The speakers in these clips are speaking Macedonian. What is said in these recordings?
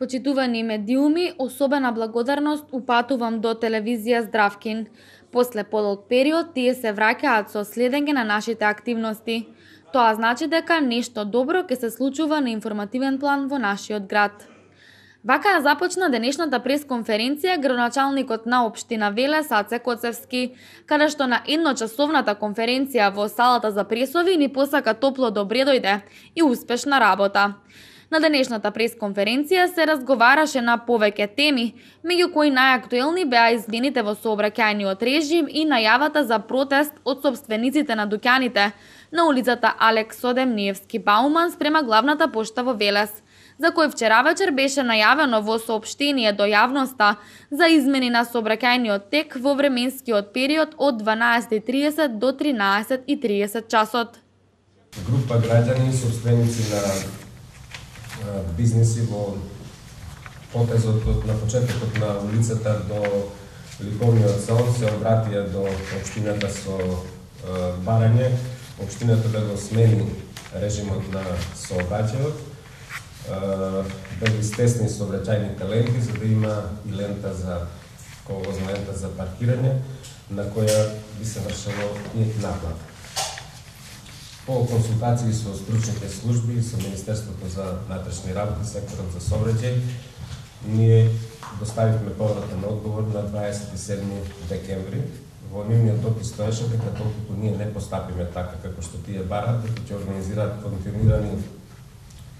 Почитувани медиуми, особена благодарност упатувам до телевизија Здравкин. После подолг период тие се враќаат со следење на нашите активности. Тоа значи дека нешто добро ќе се случува на информативен план во нашиот град. Вака започна денешната пресконференција градоначалникот на општина Велес Аце Коцевски, каде што на едночасовната конференција во салата за пресови ни посака топло добре дојде и успешна работа. На денешната пресконференција се разговараше на повеќе теми, меѓу кои најактуелни беа измените во сообраќајниот режим и најавата за протест од сопствениците на дуќаните на улицата Алекс Одемниевски Бауман спрема главната пошта во Велес, за кој вчера вечер беше најавено во соопштение до јавноста за измени на сообраќајниот тек во временскиот период од 12:30 до 13:30 часот. Група граѓани сопственици на бизнеси во потезот на почетокот на улицата до Ликовниот салон се обратија до општината со барање, општината да го смени режимот на сообраќајот, да ги стесни сообраќајните ленти, за да има и лента за коловозна лента за паркирање, на која би се вршело и наплата. По консултации со стручните служби и со Министерството за внатрешни работи, секторот за сообраќај, ние доставивме повратен одговор на 27 декември. Во нивниот допис стоеше дека толку ние не постапиме така како што тие бараат, дека ќе организираат континуирани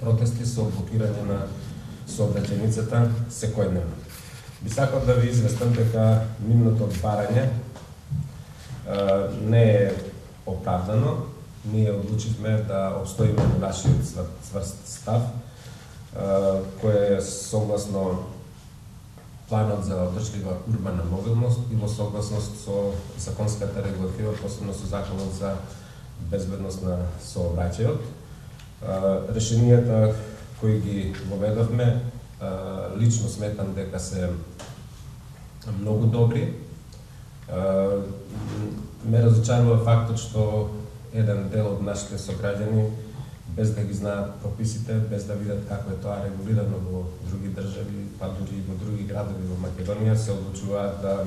протести со блокирање на сообраќајницата секојдневно. Би сакал да ви известам дека нивното барање не е оправдано. Ние одлучивме да обстоиме во нашиот цврст став, кој е согласно планот за одржлива урбана мобилност и во согласност со законската регулатива, посебно со законот за безбедност на сообраќајот. Решенијата кои ги воведовме, лично сметам дека се многу добри. Ме разочарува фактот што еден дел од нашите сограѓани, без да ги знаат прописите, без да видат како е тоа регулирано во други држави, па дури и во други градови во Македонија, се одлучуваат да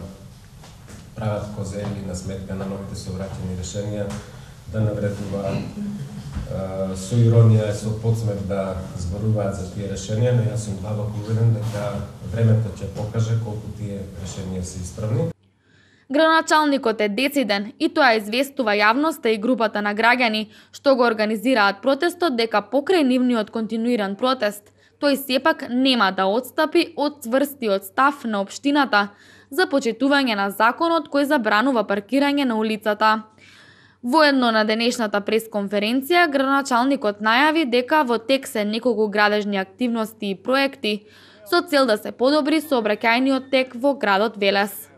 прават козели на сметка на новите сообраќајни решенија, да навредуваат со иронија и со подсмев да зборуваат за тие решенија, но јас сум длабоко уверен дека времето ќе покаже колку тие решенија се исправни. Градоначалникот е дециден и тоа известува јавноста и групата на граѓани што го организираат протестот дека покрај нивниот континуиран протест, тој сепак нема да отстапи од цврстиот став на општината за почитување на законот кој забранува паркирање на улицата. Воедно на денешната пресконференција, градоначалникот најави дека во тек се неколку градежни активности и проекти со цел да се подобри сообраќајниот тек во градот Велес.